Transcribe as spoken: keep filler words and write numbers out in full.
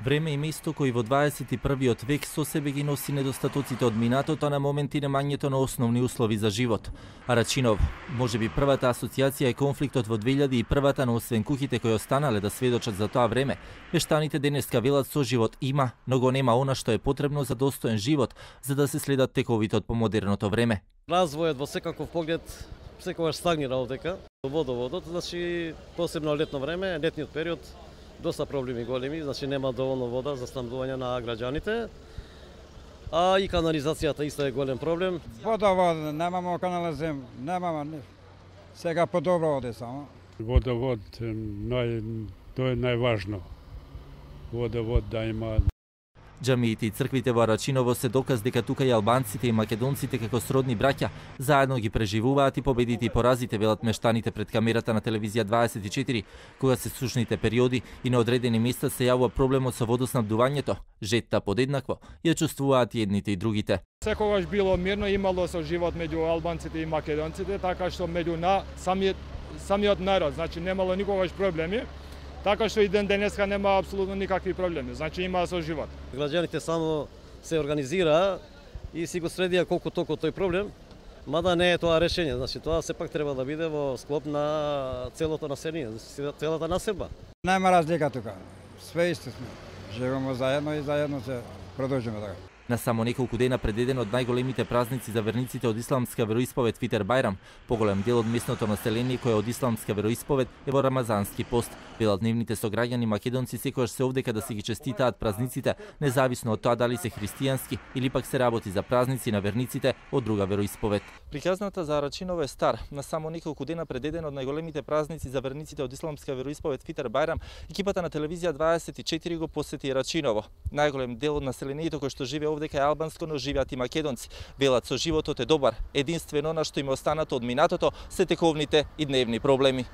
Време и место кој во дваесет и првиот век со себе ги носи недостатоците од минатото, а на моменти немањето на основни услови за живот. Арачинов, можеби првата асоциација е конфликтот во две илјади и првата, но освен куќите кои останале да сведочат за тоа време, мештаните денеска велат со живот има, но го нема она што е потребно за достоен живот, за да се следат тековите од помодерното време. Развојот во секаков поглед секогаш стагнира овдека. Водоводот, значи посебно летно време, летниот период, доста проблеми големи, значи нема доволно вода за снабдување на граѓаните. А и канализацијата исто е голем проблем. Водовод, немамо канализација, немамо. Сега подобро оде само. Водовод, нај, тоа е најважно. Водовод да има. Џамиите и црквите во Арачиново се доказ дека тука и албанците и македонците како сродни браќа заедно ги преживуваат и победите и поразите, велат мештаните пред камерата на телевизија дваесет и четири, кога се сушните периоди и на одредени места се јавува проблемот со водоснабдувањето. Жетта подеднакво ја чувствуваат и едните и другите. Секогаш било мирно, имало со живот меѓу албанците и македонците, така што меѓу на самиот самиот народ, значи немало никогаш проблеми. Така што и ден денеска нема апсолутно никакви проблеми, значи има со живот. Граѓаните само се организира и си го средија колку толку тој проблем, мада не е тоа решение, значи тоа сепак треба да биде во склоп на целото население, целата населба. Нема разлика тука, све исти сме. Живееме заедно и заедно се продолжиме така. На само неколку дена пред еден од најголемите празници за верниците од исламска вероисповед Фитер Бајрам, поголем дел од местното население кое од исламска вероисповед е во рамазански пост. Велат нивните сограѓани македонци секогаш се овдека да си ги честитаат празниците, независно од тоа дали се христијански или пак се работи за празници на верниците од друга вероисповед. Приказната за Арачиново е стар. На само неколку дена пред еден од најголемите празници за верниците од исламска вероисповед Фитер Бајрам, екипата на телевизија дваесет и четири го посети Арачиново. Најголем дел од населението кој што живее овдека е албанско, но живеат и македонци. Велат со животот е добар, единствено на што им останато од минатото се тековните и дневни проблеми.